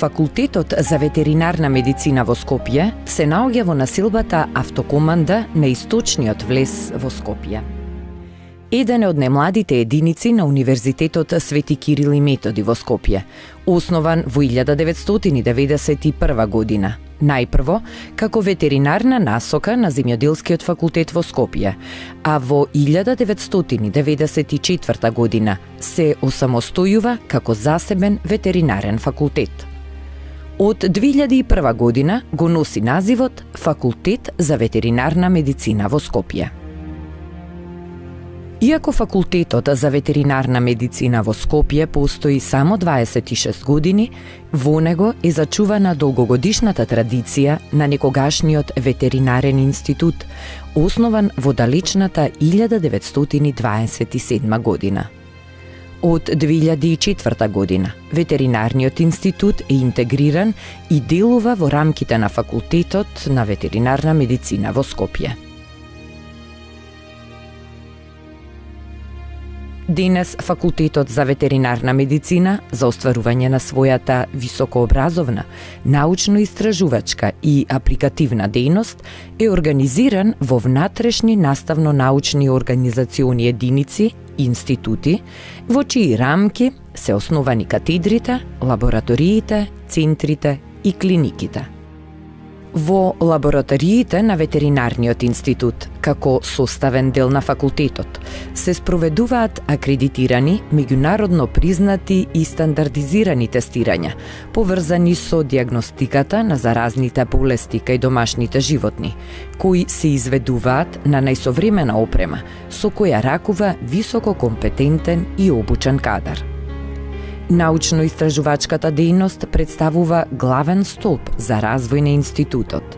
Факултетот за ветеринарна медицина во Скопје се наоѓа во населбата Автокоманда на источниот влез во Скопје. Еден од најмладите единици на Универзитетот Свети Кирил и Методи во Скопје, основан во 1991 година. Најпрво како ветеринарна насока на Земјоделскиот факултет во Скопје, а во 1994 година се осамостојува како засебен ветеринарен факултет. Од 2001 година го носи називот Факултет за ветеринарна медицина во Скопје. Иако Факултетот за ветеринарна медицина во Скопје постои само 26 години, во него е зачувана долгогодишната традиција на некогашниот ветеринарен институт, основан во далечната 1927 година. Од 2004 година ветеринарниот институт е интегриран и делува во рамките на Факултетот на ветеринарна медицина во Скопје. Денес Факултетот за ветеринарна медицина за остварување на својата високообразовна, научно-истражувачка и апликативна дејност е организиран во внатрешни наставно-научни организациони единици, институти, во чии рамки се основани катедрите, лабораториите, центрите и клиниките. Во лабораториите на ветеринарниот институт, како составен дел на факултетот, се спроведуваат акредитирани, меѓународно признати и стандардизирани тестирања, поврзани со дијагностиката на заразните болести кај домашните животни, кои се изведуваат на најсовремена опрема, со која ракува високо компетентен и обучен кадар. Научно-истражувачката дејност представува главен столб за развој на институтот.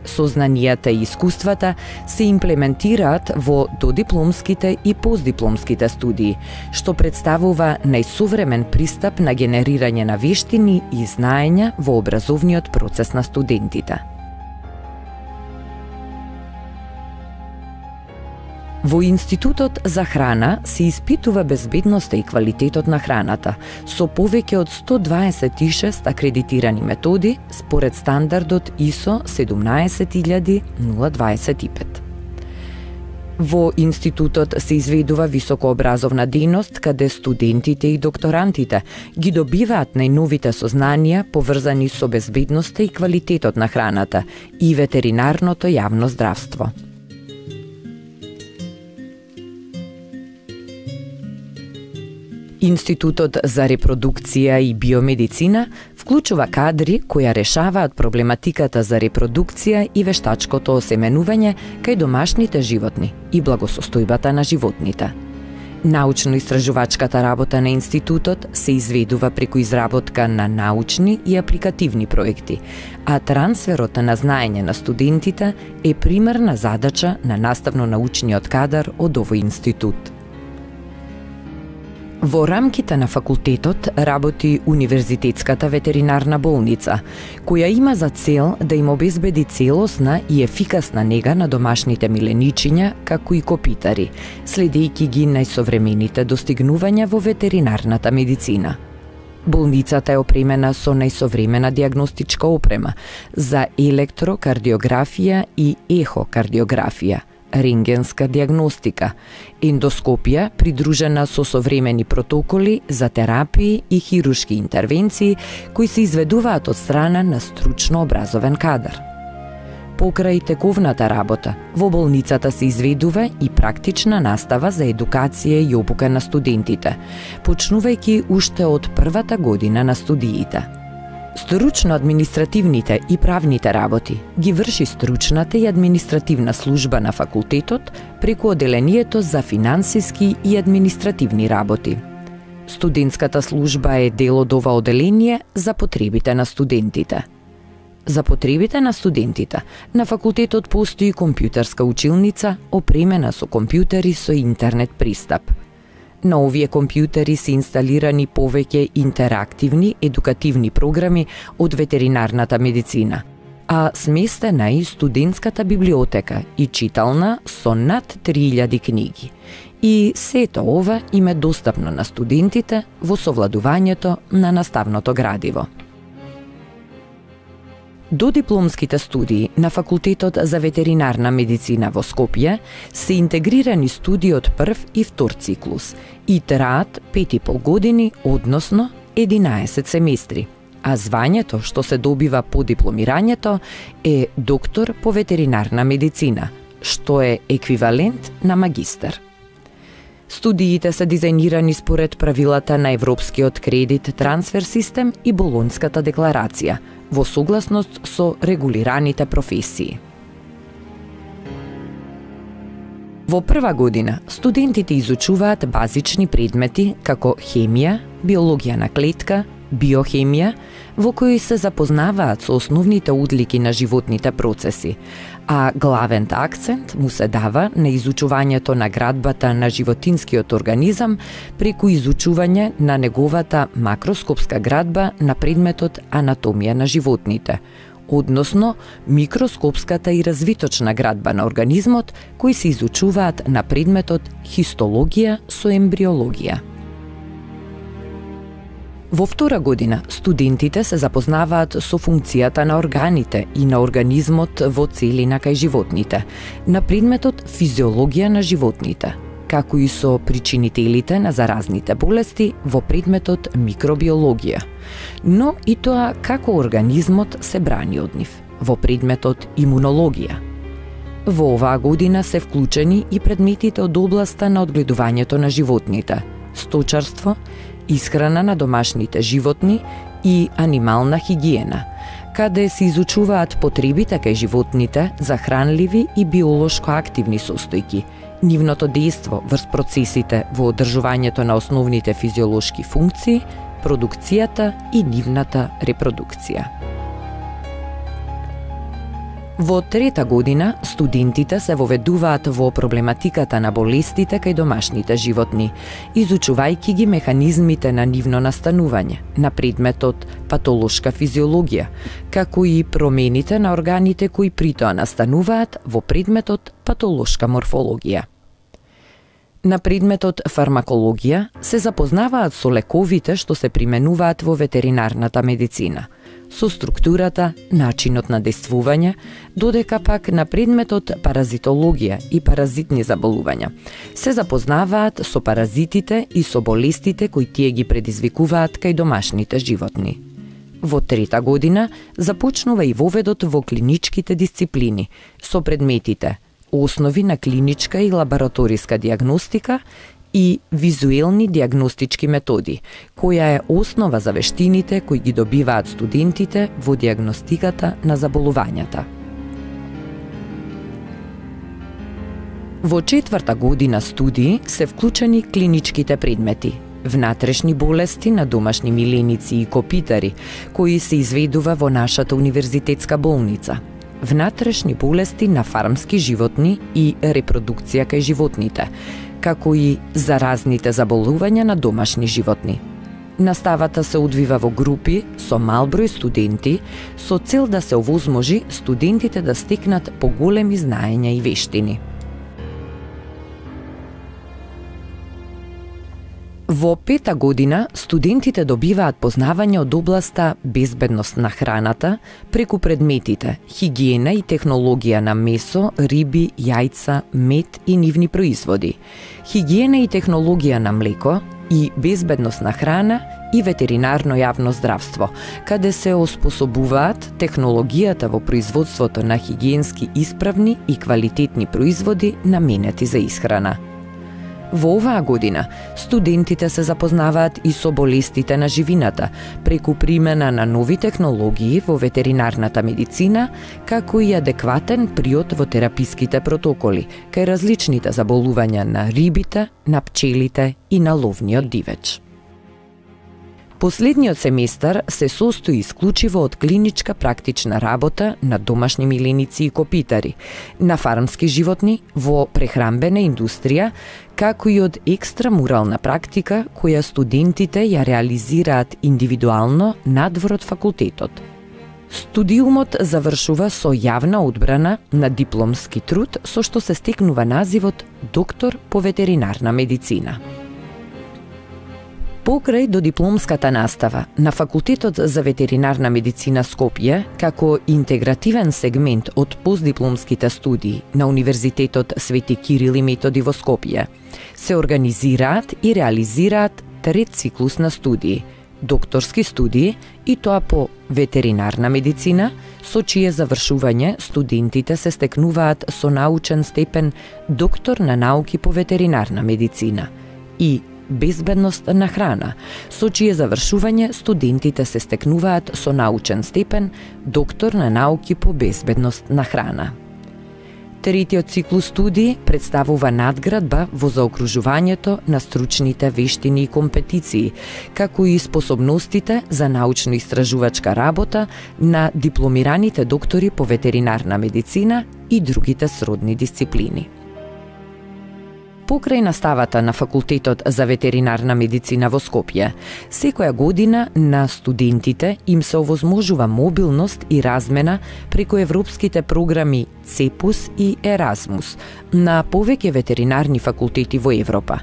Сознанијата и искуствата се имплементираат во додипломските и постдипломските студии, што представува најсовремен пристап на генерирање на вештини и знаења во образовниот процес на студентите. Во Институтот за храна се испитува безбедноста и квалитетот на храната со повеќе од 126 акредитирани методи според стандардот ISO 17025. Во Институтот се изведува високообразовна дејност каде студентите и докторантите ги добиваат најновите сознанија поврзани со безбедноста и квалитетот на храната и ветеринарното јавно здравство. Институтот за репродукција и биомедицина вклучува кадри кои решаваат проблематиката за репродукција и вештачкото осеменување кај домашните животни и благосостојбата на животните. Научно-истражувачката работа на институтот се изведува преку изработка на научни и апликативни проекти, а трансферот на знаење на студентите е примерна задача на наставно-научниот кадар од овој институт. Во рамките на факултетот работи Универзитетската ветеринарна болница, која има за цел да им обезбеди целосна и ефикасна нега на домашните миленичиња, како и копитари, следејќи ги најсовремените достигнувања во ветеринарната медицина. Болницата е опремена со најсовремена дијагностичка опрема за електрокардиографија и ехокардиографија, рентгенска дијагностика, ендоскопија придружена со современи протоколи за терапии и хируршки интервенции кои се изведуваат од страна на стручно образовен кадар. Покрај тековната работа, во болницата се изведува и практична настава за едукација и обука на студентите, почнувајќи уште од првата година на студиите. Стручно-административните и правните работи ги врши стручната и административна служба на факултетот преку оделението за финансиски и административни работи. Студентската служба е дел од ова оделение за потребите на студентите. За потребите на студентите, на факултетот постои компјутерска училница опремена со компјутери со интернет пристап. На овие компјутери се инсталирани повеќе интерактивни едукативни програми од ветеринарната медицина, а сместена и студентската библиотека и читална со над 3000 книги. И сето ова им е достапно на студентите во совладувањето на наставното градиво. Додипломските студии на Факултетот за ветеринарна медицина во Скопје се интегрирани студии од прв и втор циклус и траат 5,5 години, односно 11 семестри, а звањето што се добива по дипломирањето е доктор по ветеринарна медицина, што е еквивалент на магистар. Студиите се дизајнирани според правилата на Европскиот кредит трансфер систем и Болонската декларација, во согласност со регулираните професии. Во прва година, студентите изучуваат базични предмети како хемија, биологија на клетка, биохемија, во кои се запознаваат со основните одлики на животните процеси, а главен акцент му се дава на изучувањето на градбата на животинскиот организам преку изучување на неговата макроскопска градба на предметот анатомија на животните, односно микроскопската и развиточна градба на организмот кои се изучуваат на предметот хистологија со ембриологија. Во втора година, студентите се запознаваат со функцијата на органите и на организмот во целина кај животните, на предметот физиологија на животните, како и со причинителите на заразните болести во предметот микробиологија, но и тоа како организмот се брани од нив, во предметот имунологија. Во оваа година се вклучени и предметите од областа на одгледувањето на животните, сточарство, исхрана на домашните животни и анимална хигиена, каде се изучуваат потребите кај животните за хранливи и биолошко активни состојки, нивното дејство врз процесите во одржувањето на основните физиолошки функции, продукцијата и нивната репродукција. Во трета година, студентите се воведуваат во проблематиката на болестите кај домашните животни, изучувајќи ги механизмите на нивно настанување, на предметот патолошка физиологија, како и промените на органите кои при тоа настануваат во предметот патолошка морфологија. На предметот фармакологија се запознаваат со лековите што се применуваат во ветеринарната медицина, со структурата, начинот на действување, додека пак на предметот паразитологија и паразитни заболувања се запознаваат со паразитите и со болестите кои тие ги предизвикуваат кај домашните животни. Во трета година започнува и воведот во клиничките дисциплини со предметите основи на клиничка и лабораториска дијагностика и визуелни дијагностички методи, која е основа за вештините кои ги добиваат студентите во дијагностиката на заболувањата. Во четврта година студии се вклучени клиничките предмети, внатрешни болести на домашни миленици и копитари, кои се изведува во нашата универзитетска болница, внатрешни болести на фармски животни и репродукција кај животните, како и заразните заболувања на домашни животни. Наставата се одвива во групи со мал број студенти со цел да се овозможи студентите да стекнат поголеми знаења и вештини. Во пета година студентите добиваат познавање од областа безбедност на храната преку предметите хигиена и технологија на месо, риби, јајца, мед и нивни производи, хигиена и технологија на млеко и безбедност на храна и ветеринарно јавно здравство, каде се оспособуваат технологијата во производството на хигиенски исправни и квалитетни производи наменети за исхрана. Во оваа година, студентите се запознаваат и со болестите на живината, преку примена на нови технологии во ветеринарната медицина, како и адекватен приод во тераписките протоколи, кај различните заболувања на рибите, на пчелите и на ловниот дивеч. Последниот семестар се состои исклучиво од клиничка практична работа на домашни миленици и копитари, на фармски животни во прехранбена индустрија, како и од екстрамурална практика која студентите ја реализираат индивидуално надвор од факултетот. Студиумот завршува со јавна одбрана на дипломски труд со што се стекнува називот доктор по ветеринарна медицина. Покрај додипломската настава на Факултетот за ветеринарна медицина Скопје, како интегративен сегмент од постдипломските студии на Универзитетот Свети Кирил и Методи во Скопје, се организираат и реализираат трет циклус на студии, докторски студии, и тоа по ветеринарна медицина, со чие завршување студентите се стекнуваат со научен степен доктор на науки по ветеринарна медицина, и безбедност на храна, со чие завршување студентите се стекнуваат со научен степен доктор на науки по безбедност на храна. Третиот циклус студии представува надградба во заокружувањето на стручните вештини и компетиции, како и способностите за научно-истражувачка работа на дипломираните доктори по ветеринарна медицина и другите сродни дисциплини. Покрај наставата на Факултетот за ветеринарна медицина во Скопје, секоја година на студентите им се овозможува мобилност и размена преку европските програми ЦЕПУС и Еразмус на повеќе ветеринарни факултети во Европа,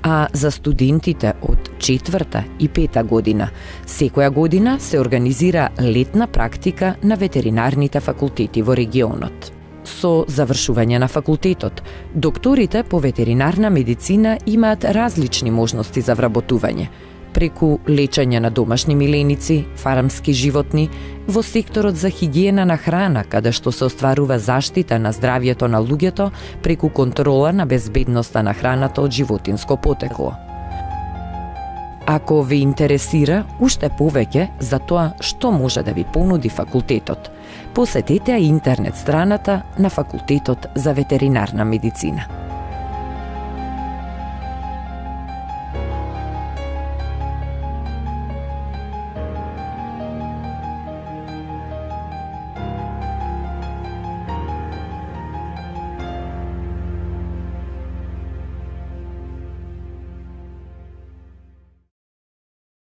а за студентите од 4-та и 5-та година секоја година се организира летна практика на ветеринарните факултети во регионот. Со завршување на факултетот, докторите по ветеринарна медицина имаат различни можности за вработување, преку лечење на домашни миленици, фармски животни, во секторот за хигиена на храна, каде што се остварува заштита на здравјето на луѓето преку контрола на безбедноста на храната од животинско потекло. Ако ве интересира уште повеќе за тоа што може да ви понуди факултетот, посетете интернет страната на Факултетот за ветеринарна медицина.